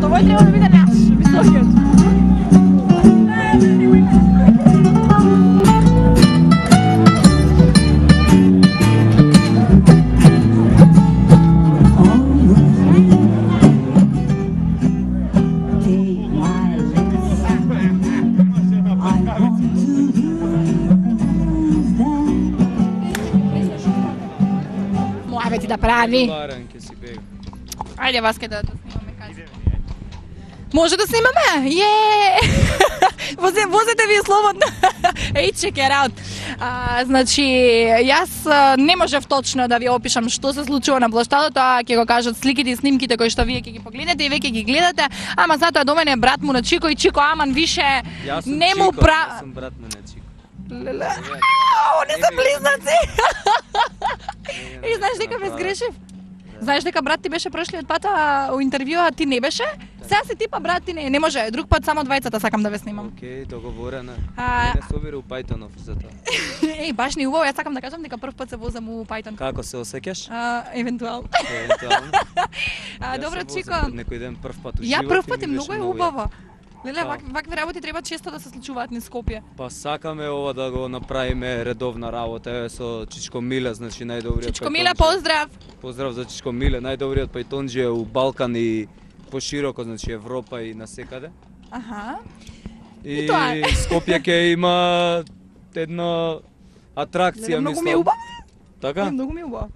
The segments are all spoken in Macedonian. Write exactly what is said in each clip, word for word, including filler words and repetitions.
што овој треба да биде наш, високиот. Моја ти да прави. Баран ќе си бега. Ајде, Васке, да да снимаме кај. Може да снимаме? Је! Возе, возете ви слободно. Еј, check it out. А, значи, јас а, не можев точно да ви опишам што се случува на плоштадот, тоа ќе го кажат сликите и снимките кои што вие ќе ги погледнете и веќе ги гледате, ама затоа до мене брат му на Чико и Чико Аман више не му пра... Јас сум брат му на Чико. Леле, они се близнаци. И знаеш дека ме сгрешив? Знаеш дека брат ти беше прошлиот пат у интервју, а ти не беше? Сега си типа брат ти не, не може, друг пат само двајцата сакам да ве снимам. Океј, договорено. А... Не собира у Пајтонов за тоа. Еј, баш ни убаво, јас сакам да кажам дека прв пат се возам у Пајтон. Како се осеќаш? А, евентуално. Евентуално. А, добро, Чико. Некој ден прв пат у живот. Ја прв пат е ми многу беше е многу убаво. Леле, Да. вак, вакви работи треба често да се случуваат низ Скопје. Па сакаме ова да го направиме редовна работа, еве со Чичко Миле, значи најдобриот. Чичко Миле, пајтонџија. поздрав! Поздрав за Чичко Миле, најдобриот пајтонџија у Балкан и пошироко, значи Европа и насекаде. Аха. И, И тоа е. Скопје ќе има една атракција, Леле, многу мислам. ми е убаво. Така? Многу ми е убаво.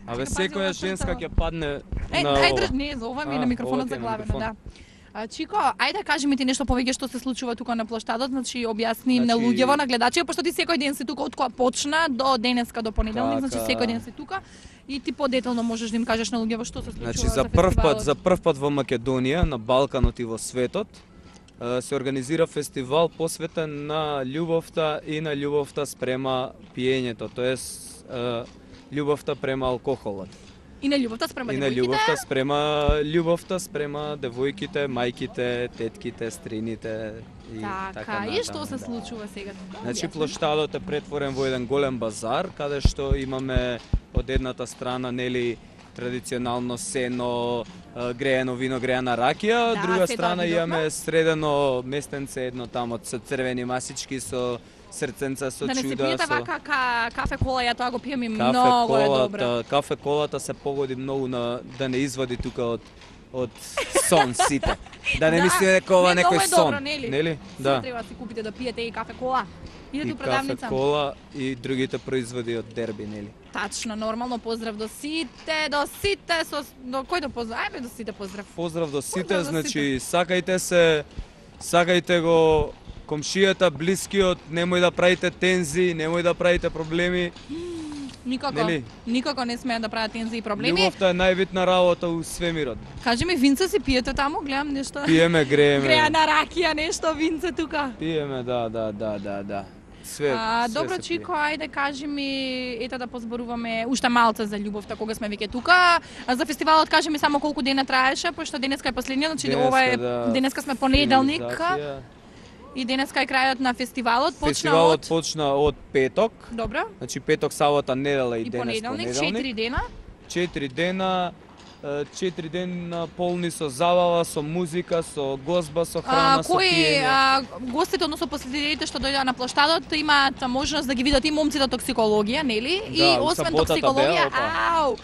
Абе Чекай, пази, секоја ова женска црта. ќе падне Е, на ајде, ова. не, за ова ми е А, на микрофонот ова ти е за на главено, микрофон. да. А, Чико, ајде кажи ми ти нешто повеќе што се случува тука на плоштадот, значи објасни на Значи- луѓево, на гледачи, пошто ти секој ден си тука од кога почна до денеска до понеделник, значи Така. секој ден си тука и ти подетално можеш да им кажеш на луѓево што се случува Значи за прв пат, за прв пат во Македонија, на Балканот и во светот, е, се организира фестивал посветен на љубовта и на љубовта спрема пиењето, тоест е, љубовта према алкохолот. И на љубовта спрема И на девојките. љубовта спрема љубовта спрема девојките, мајките, тетките, стрините и така, Така, и што натаму, се да. случува сега? Значи Објасни. плоштадот е претворен во еден голем базар, каде што имаме од едната страна нели традиционално сено, е, греено вино, греена ракија, од Да, друга се страна тоа видовме. имаме средено местенце едно тамо со црвени масички, со срценца, со Да не се чуда, пиете со вака ка, кафе кола, ја тоа го пием и кафе многу е добро. колата. Кафе колата се погоди многу на да не извади тука од од сон сите. Да не Да, мислиме дека ова не, некој многу е сон, добро, нели? нели? Да. Да. Треба да си купите да пиете и кафе кола. Идете И у кафе продавница. кола и другите производи од Дерби, нели? Тачно, нормално поздрав до сите, до сите, со, до кој да поздрав? Ајде до сите поздрав. Поздрав до сите, Поздрав до значи сакајте се, сакајте го комшијата, блискиот, немој да правите тензи, немој да правите проблеми. Никако, Нели? никако не смеат да прават тензи и проблеми. Љубовта е најбитна работа у свемирот. Кажи ми, винце си пиете таму? Гледам нешто. Пиеме, грееме. Греана ракија, нешто, винце тука. Пиеме, да, да, да, да, да. Све, А, све добро, се Чико, пие. ајде кажи ми, ето да позборуваме уште малце за љубовта кога сме веќе тука. А за фестивалот кажи ми само колку дена траеше, пошто денеска е последниот, значи Денеска, ова е да, денеска сме понеделник финализација. и денеска е крајот на фестивалот. Почна Фестивалот од почна од петок, Добро. значи петок, сабота, недела и, И денес понеделник, понеделник. четири дена. Четири дена, е, четири дена полни со забава, со музика, со гозба, со А, храна, со кои пиење. а, гостите, односно посетителите што дојдоа на плоштадот, имаат можност да ги видат и момците од токсикологија, нели? Да, и у освен саботата токсикологија, беа, опа. ау,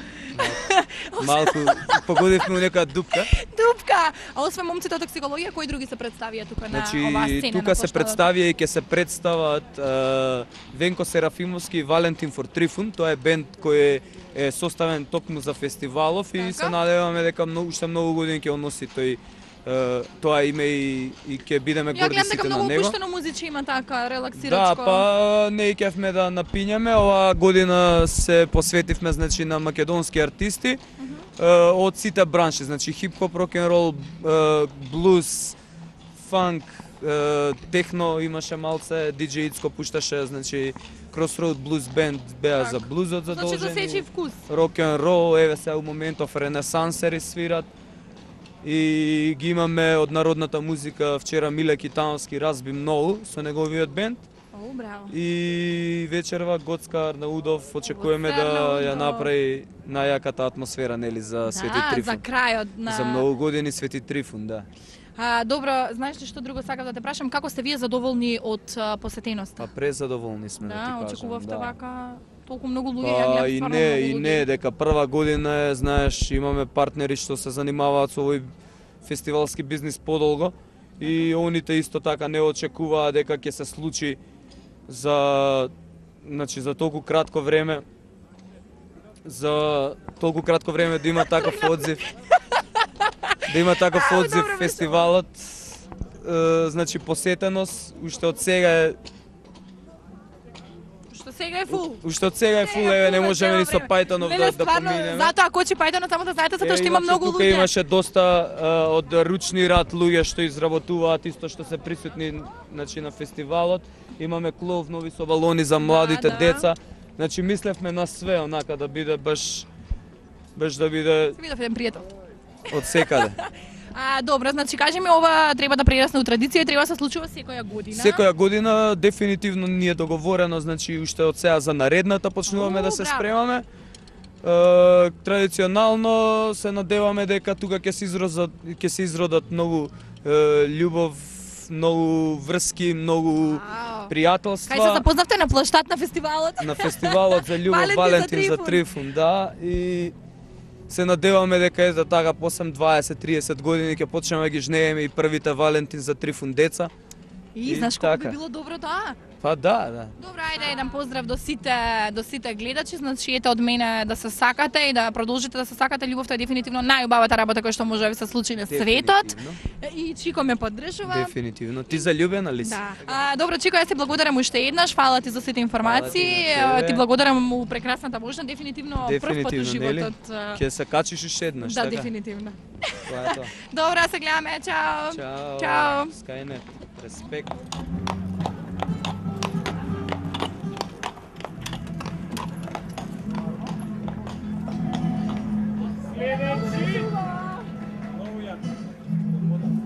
Малку погодивме у нека дупка. дупка. А освен момците од токсикологија, кои други се представија тука на Значи, оваа сцена? тука на се плоштадот? представија и ќе се представат е, Венко Серафимовски и Валентин Фортрифун. Тоа е бенд кој е, е составен токму за фестивалов и Така. се надеваме дека многу, уште многу години ќе оноси тој е, тоа име и, и ќе бидеме Ја горди гледам дека сите на многу него. опуштено музиче има така, Да, релаксирачко. па не кевме да напињаме. Оваа година се посветивме значи на македонски артисти е, од сите бранши, значи хип-хоп, рок-н-рол, е, блуз, фанк, е, техно имаше малце, диџеј Ицко пушташе, значи Crossroad Blues Band беа Так. за блузот Значи за задолжени. сечи вкус. Рок-н-рол, еве се у моментов ренесансери свират. И ги имаме од народната музика, вчера Миле Китановски разби многу со неговиот бенд. О, браво. И вечерва Гоцка Арнаудов очекуваме Гоцка да ја Арнаудов. направи најаката атмосфера нели за Свети Да, Трифун. за крајот на... За многу години Свети Трифун, да. А, добро, знаеш ли што друго сакав да те прашам, како сте вие задоволни од а, посетеноста? Па презадоволни сме да, ти Да, кажам. очекувавте да. вака толку многу луѓе, ја Па гледам и стварно не, многу и луѓе. не, дека прва година е, знаеш, имаме партнери што се занимаваат со овој фестивалски бизнис подолго и оните исто така не очекуваа дека ќе се случи за значи за толку кратко време за толку кратко време да има таков одзив. Да има таков Ау, одзив добро, фестивалот. Е, значи посетеност уште од сега е Што сега е фул. уште од сега е фул, Сега еве не фул е можеме цело ни со време. Пајтонов Леле, да, да стварно, поминеме. Затоа кочи Пајтонов, само да знаете, затоа што има иначе многу тука луѓе. имаше доста а, од ручни рад луѓе што изработуваат исто што се присутни значи на фестивалот. Имаме клов нови со балони за младите да. деца. Значи мислевме на све онака да биде баш баш да биде Се видов еден пријател. од секаде. А, добро, значи кажи ми, ова треба да прерасне у традиција и треба да се случува секоја година. Секоја година дефинитивно ни е договорено, значи уште од сега за наредната почнуваме О, да се браво. спремаме. Е, традиционално се надеваме дека тука ќе се изродат ќе се изродат многу е, љубов, многу врски, многу Вау. пријателства. Кај се запознавте на плаштат на фестивалот? На фестивалот за љубов Валентин Валентин, за за Трифун. Трифун, да, и се надеваме дека ето така после дваесет триесет години ќе почнеме да ги жнееме и првите Валентин за Трифун деца. И, И знаеш колку би така. било добро тоа? Па да, да. Добро, ајде еден поздрав до сите до сите гледачи, значи ете од мене да се сакате и да продолжите да се сакате. Љубовта е дефинитивно најубавата работа која што може да ви се случи на светот. Дефинитивно. И Чико ме поддржува. Дефинитивно. Ти залюбена ли си? Да. А, добро, Чико, јас ти благодарам уште еднаш. Фала ти за сите информации. Фала ти на тебе. Ти благодарам у прекрасната можна. Дефинитивно прв пат у Дефинитивно, нели? животот. а, Ќе се качиш уште еднаш, Да, така? дефинитивно. Тоа е тоа. Добро, се гледаме. Чао. Чао. Чао. Skynet. Респект.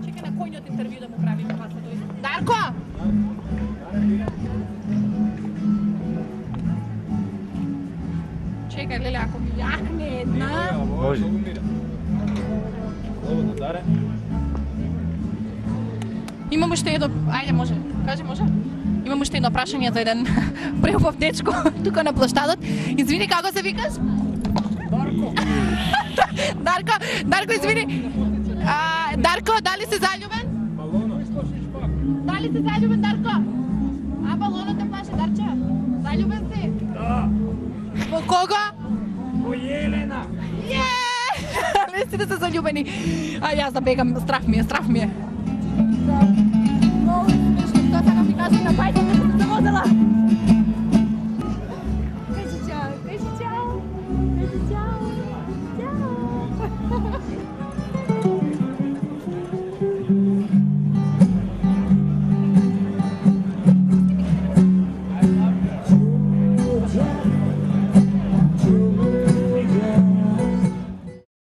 Чекай на којниот интервју да му правиме па се дојде. Дарко! Чекај, леле, ако ми јахне една... Може. Слободно, даре. Имам уште едно... Ајде, може. Кажи, може? Имам уште едно прашање за еден преубав дечко тука на плаштадот. Извини, како се викаш? Дарко. Дарко, Дарко, извини. А, Дарко, дали си заљубен? Дали си заљубен, Дарко? А, балонот те плаше, Дарче? Заљубен си? Да. Во кого? Во Јелена. Је! Не сте се заљубени. А, јас да бегам, страх ми е, страх ми е. Много смешно, тоа сакам ти кажам на бајта